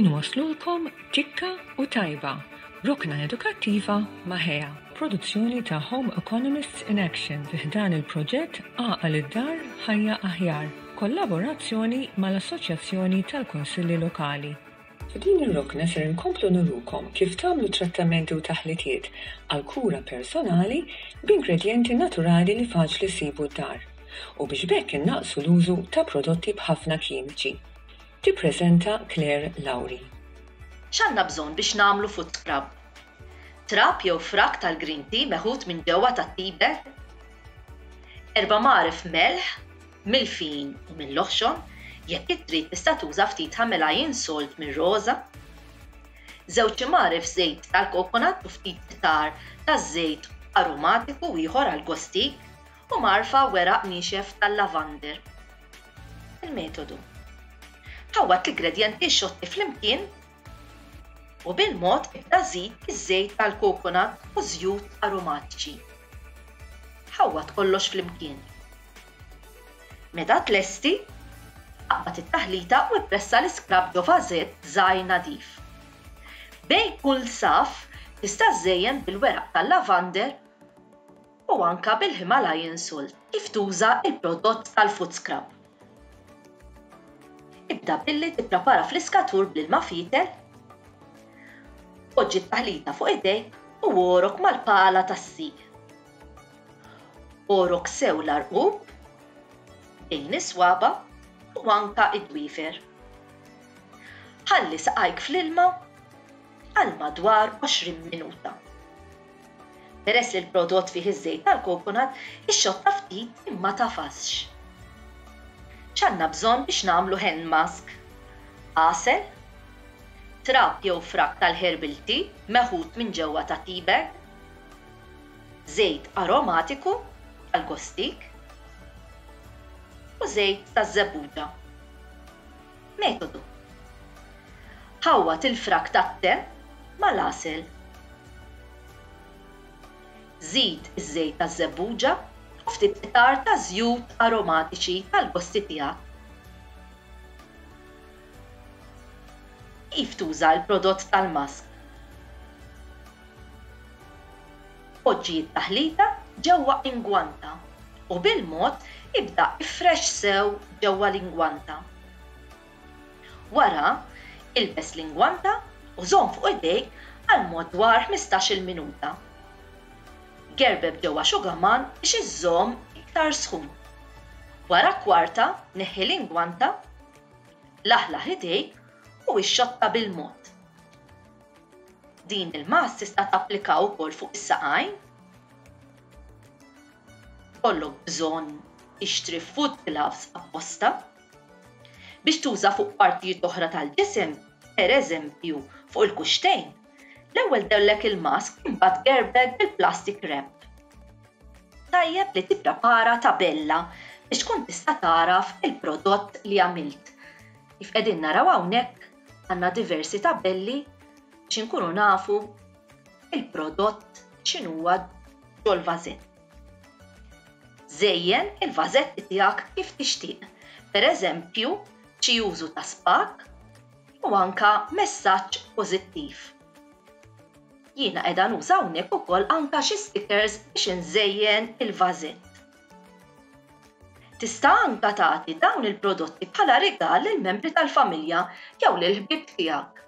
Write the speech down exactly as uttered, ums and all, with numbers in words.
Inwaslulkom Tikka u Tajba, rokna edukattiva ma' Ħea, produzzjoni ta' Home Economists in Action fi ħdan il-proġett Għaqal id-Dar Ħajja Aħjar, kollaborazzjoni mal-Assoċjazzjoni tal-Kunsilli Lokali. F'din ir-rokna ser inkomplu nurukom kif tagħmlu trattamenti u taħlitiet għal kura personali b'ingredjenti naturali li faċli ssibu d-dar u biex b'hekk innaqsu l-użu ta' prodotti b'ħafna kimiċi. Tippreżenta Claire Lauri. X'għandna bżonn biex nagħmlu foot scrub? Trab jew frak tal-green tea meħud minn ġewwa tat-tea bag, erba' mgħaref melħ, mill-fin u mill-oħxon, jekk trid tista' tuża ftit Himalayan salt mir-roża, żewġ imgħaref żejt tal-coconut u ftit qtar taż-żejt aromatiku ieħor għal gostik u mgħarfa weraq niexef tal-lavander. Il-metodu. Ħawwad l-ingredjenti xotti flimkien u bil-mod ibda żid iż-żejt tal-coconut u żjut aromatiċi. Ħawwad kollox flimkien. Meta tlesti, aqbad it-taħlita u ippressa l-iscrub ġo vażett żgħir nadif. Bejn kull saf tista' żżejjen bil-weraq tal-lavander u anka bil-Himalayan salt kif tuża il-prodott tal-foot scrub. Ibda billi tipprepara fliskatur bl-ilma fietel, poġġi t-taħlita fuq idejk u ogħrok mal-pala tas-sieq. Ogħrok sew l-għarqub, bejn is-swaba u anka id-dwiefer. Ħalli saqajk fl-ilma għal madwar għoxrin minuta. Peress li l-prodott fih iż-żejt tal-coconut, ixxotta ftit imma tagħfasx. X'għandna bżonn biex nagħmlu hand mask? Għasel, trab jew frak tal-herbal tea meħud minn ġewwa ta' tea bag, żejt aromatiku għal-gostik u żejt taż-żebbuġa. Metodu. Ħawwad il-frak tat-te mal-għasel. Żid iż-żejt taż-żebbuġa u ftit qtar ta' żjut aromatiċi tal-gosti tiegħek. Kif tuża l-prodott tal-mask? Poġġi t-taħlita ġewwa ingwanta u bil-mod ibda ifrex sew ġewwa l-ingwanta. Wara, ilbes l-ingwanta u żomm fuq idejk għal madwar ħmistax-il minuta. Gerbeb ġewwa xugaman biex iżżomm iktar sħun. Wara kwarta neħħi l-ingwanta, laħlaħ idejk u ixxotta bil-mod. Din il-mask tista' tapplika wkoll fuq is-saqajn. Kollok bżonn tixtri foot gloves apposta biex tuża fuq partijiet oħra tal-ġisem, pereżempju fuq il-kuxtejn. L-ewwel dellek il-mask imbagħad gerbeb bil-plastic wrap. Tajjeb li tipprepara tabella biex tkun tista' tagħraf il-prodott li għamilt. Kif qegħdin naraw hawnhekk għandna diversi tabelli biex inkunu nafu il-prodott x'inhuwa ġol-vażett. Żejjen il-vażetti tiegħek kif tixtieq, pereżempju xi użu ta' spak u anka messaġġ pożittiv. Jiena qiegħda nuża hawnhekk ukoll anka xi stickers biex inżejjen il-vażett. Tista' anka tagħti dawn il-prodotti bħala rigal lill-membri tal-familja jew lill-ħbieb tiegħek.